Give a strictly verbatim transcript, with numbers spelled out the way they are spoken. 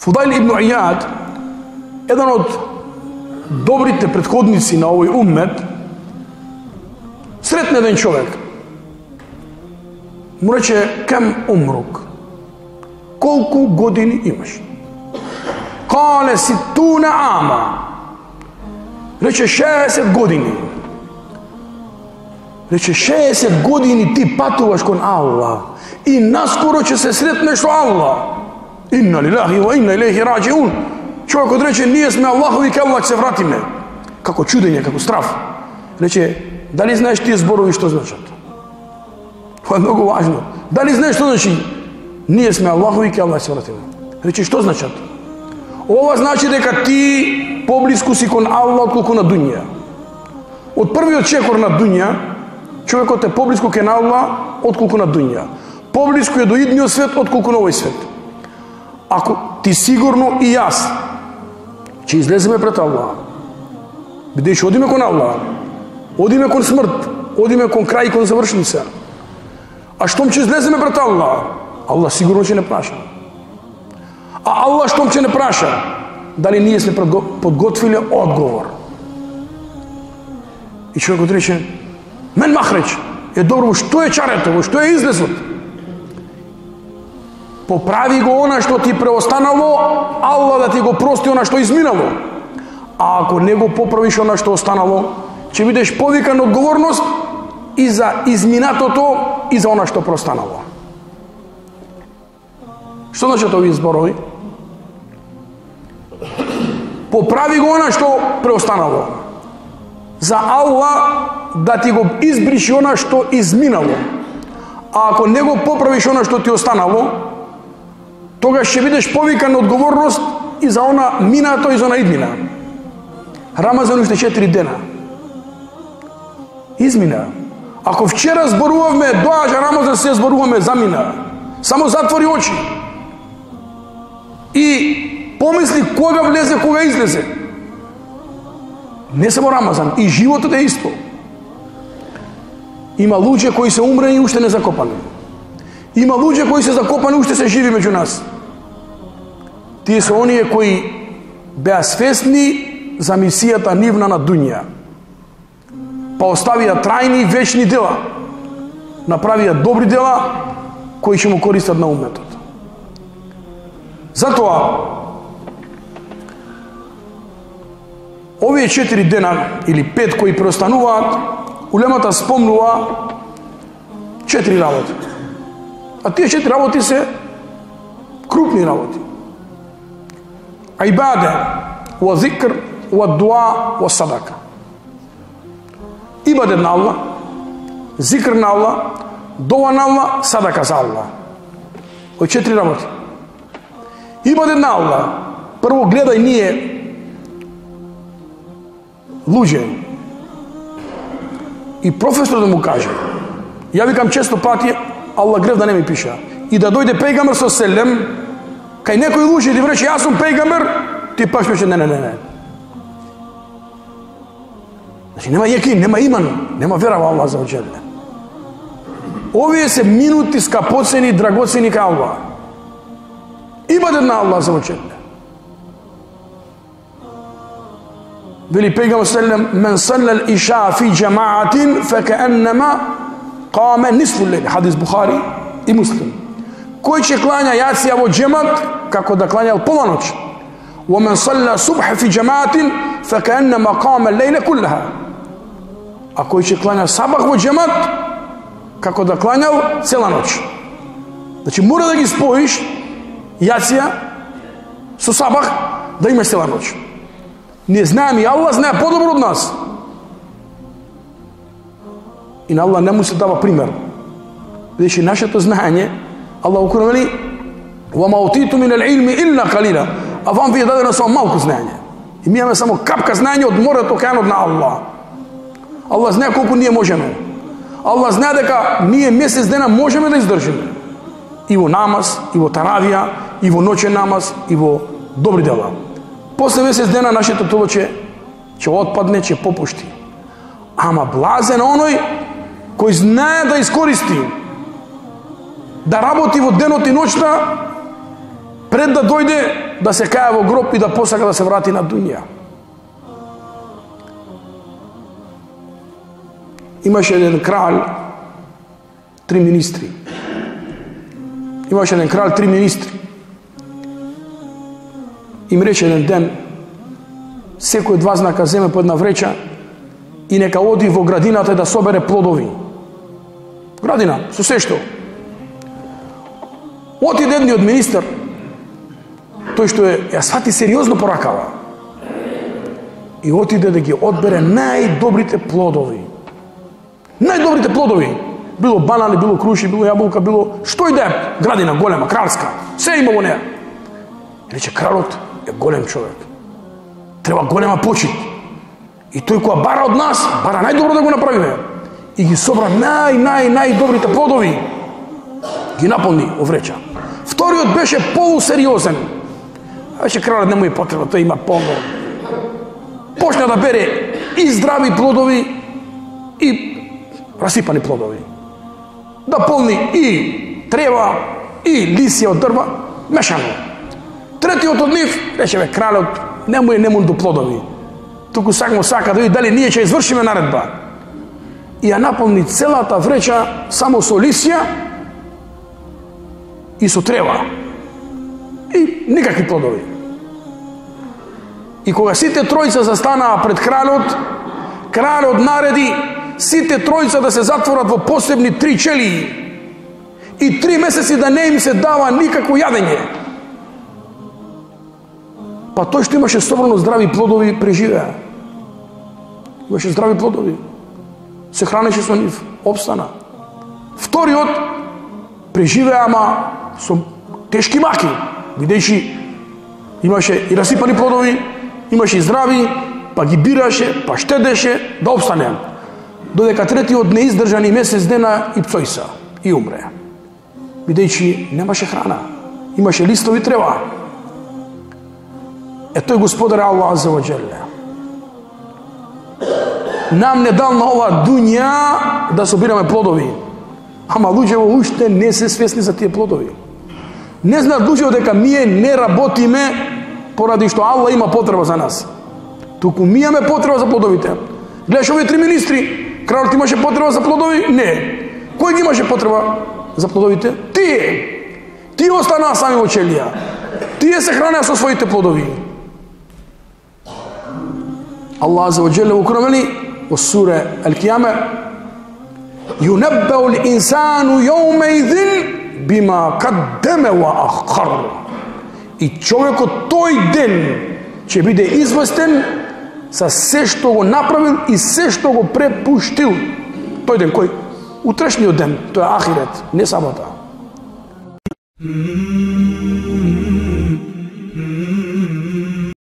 Фудайл ибн Ияд, еден од добрите претходници на овој уммет, сретна еден човек. Му рече: кем умрук? Колку години имаш? Кале ситуна ама. Рече: шеесет години. Рече: шеесет години ти патуваш кон Аллах и наскоро ќе се сретнеш со Аллах. Инна лилахи ва инна илейхи раджиун. Човекот рече: ние сме Аллахови, ке Аллах се вратиме. Како чудење, како страф. Рече: дали знаеш тие зборови што значат? Това е многу важно. Дали знаеш што значи? Ние сме Аллахови, ке Аллах се вратиме. Рече: што значат? Ова значи дека ти поблиску си кон Аллах отколку на дуња. Од првиот чекор на дуња, човекот е поблиску кон Аллах отколку на дуња. Поблиску е до идниот свет отколку на овој свет. Ако ти сигурно и јас ќе излеземе пред Аллах, бидејќи одиме кон Аллах, одиме кон смрт, одиме кон крај и кон завршница. А штом ќе излеземе пред Аллах, Аллах сигурно ќе не праша. А Аллах штом ќе не праша, дали ние сме подготвили одговор? И човекот рече: мен махреч, е добро, што е чарето, што е излезот? Поправи го она што ти преостанало, Аллах да ти го прости она што изминало. А ако не го поправиш она што останало, ќе бидеш повикан одговорност и за изминатото и за она што преостанало. Што значат овие зборови? Поправи го она што преостанало. За Аллах да ти го избриши она што изминало. А ако не го поправиш она што ти останало, тогаш ќе бидеш повикан на одговорност и за она минато и за она идмина. Рамазан уште четири дена. Измина. Ако вчера зборувавме, доаѓа Рамазан, се зборуваме, замина. Само затвори очи. И помисли кога влезе, кога излезе. Не само Рамазан, и животот е исто. Има луѓе кои се умрени и уште не закопани. Има луѓе кои се закопани и уште се живи меѓу нас. Тие се оние кои беа свесни за мисијата нивна на дуња. Па оставија трајни и вечни дела. Направија добри дела кои ќе му користат на умметот. Затоа овие четири дена или пет кои преостануваат, улемата спомнува четири работи. А тие четири работи се крупни работи. Ибаде, ва зикр, ва дуа, ва садака. Ибаде на Аллах, зикр на Аллах, дова на Аллах, садака за Аллах. Ој четири работи. Ибаде на Аллах. Прво гледај ние луѓе и професор да му каже: ја викам често пати, Аллах грев да не ми пиша. И да дојде пејгамбер со селем, кај некој луѓе да рече: јас сум пејгамбер, ти паш пише: не, не, не, не. Значи нема јекин, нема иман, нема вера во Аллах за оџеле. Овие се минути скапоцени, драгоцени кај Аллах. Ибадет на Аллах за оџеле. Вели пејгамбер селем: мен саллал иша фи џамаатин фекаеннема каме нисфу лејл. Хадис Бухари и Муслим. Кој ќе клања јација во џемат, како да клањал пола ноќ. Wa men salla subha fi jamaatin fekannama qama al-layla kullaha. A кој ќе клања сабах во џемат, како да клањал цела ноќ. Значи мора да ги споиш јација со сабах да имаш цела ноќ. Не знаеме, и Аллах знае подобро од нас. И на Аллах не му се дава пример. Бидејќи нашето знаење, Аллах укорно вели: وَمَا أُوتِيتُم مِنَ الْعِلْمِ إِلَّا قَلِيلًا. А вам ви е дадено само малку знаење. И ми имаме само капка знаење од морето, океанот на Аллах. Аллах знае колку ние можеме. Аллах знае дека ние месец дена можеме да издржиме. И во намаз, и во таравија, и во ноќен намаз, и во добри дела. После месец дена нашето тело ќе ќе отпадне, ќе попушти. Ама блазен оној кој знае да искористи, да работи во денот и ноќта, пред да дојде да се каја во гроб и да посака да се врати на дуња. Имаше еден краль, три министри. Имаше еден краль, три министри. Им рече еден ден, секој од вас нека земе по една вреча и нека оди во градината да собере плодови. Градина, со се што. Отиде едниот министер, тој што е, ја свати сериозно поракава, и отиде да ги одбере најдобрите плодови. Најдобрите плодови. Било банани, било круши, било јаболка, било што и да е, градина голема, кралска, се има во неа. Рече, кралот е голем човек. Треба голема почит. И тој која бара од нас, бара најдобро да го направиме. И ги собра нај, нај, најдобрите плодови. Ги наполни во вреча. Вториот беше полусериозен. Беше кралот не му е потреба, тој има полно. Почна да бере и здрави плодови и расипани плодови. Да полни и трева, и лисија од дрва, мешано. Третиот од нив, рече бе, кралот, не му е немун до плодови. Туку сакмо сака да види дали ние ќе извршиме наредба. И ја наполни целата вреча само со лисија и со трева. И никакви плодови. И кога сите тројца застанаа пред кралот, кралот нареди сите тројца да се затворат во посебни три челии и три месеци да не им се дава никакво јадење. Па тој што имаше собрано здрави плодови преживеа. Имаше здрави плодови. Се хранеше со нив, обстана. Вториот преживеа, ама со тешки маки, бидејќи имаше и расипани плодови, имаше и здрави, па ги бираше, па штедеше да обстане. Додека третиот не издржани месец дена и пцојса и умре. Бидејќи немаше храна, имаше листови трева. Е тој Господар Аллах Азza ва Джелле нам не дал на ова дуња да собираме плодови. Ама луѓето уште не се свесни за тие плодови. Не знаат луѓето дека ние не работиме поради што Аллах има потреба за нас. Туку ми имаме потреба за плодовите. Гледаш овие три министри, кралот имаше потреба за плодови? Не. Кој ги имаше потреба за плодовите? Тие. Тие останаа сами во челија. Тие се хранеа со своите плодови. Аллах Азza ва Джелле во Куран вели во сура Ал-Кијама: "Юнаббау л-инсану јаумеидин бима каддама ва ахар." И човекот тој ден ќе биде известен за се што го направил и се што го препуштил. Тој ден кој? Утрешниот ден, тоа е ахирет, не сабота.